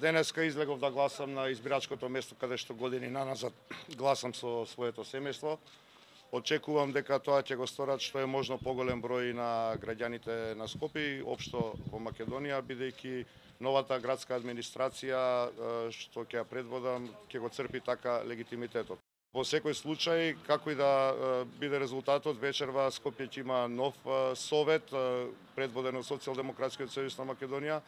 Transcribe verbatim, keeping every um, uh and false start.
Денеска излегов да гласам на избирачкото место каде што години наназад гласам со своето семејство. Очекувам дека тоа ќе го сторат што е можно поголем број на граѓаните на Скопје и општо во Македонија, бидејќи новата градска администрација што ќе ја предводам ќе го црпи така легитимитетот. Во секој случај, како и да биде резултатот, вечерва Скопје ќе има нов совет предводен од Социјалдемократскиот сојуз на Македонија.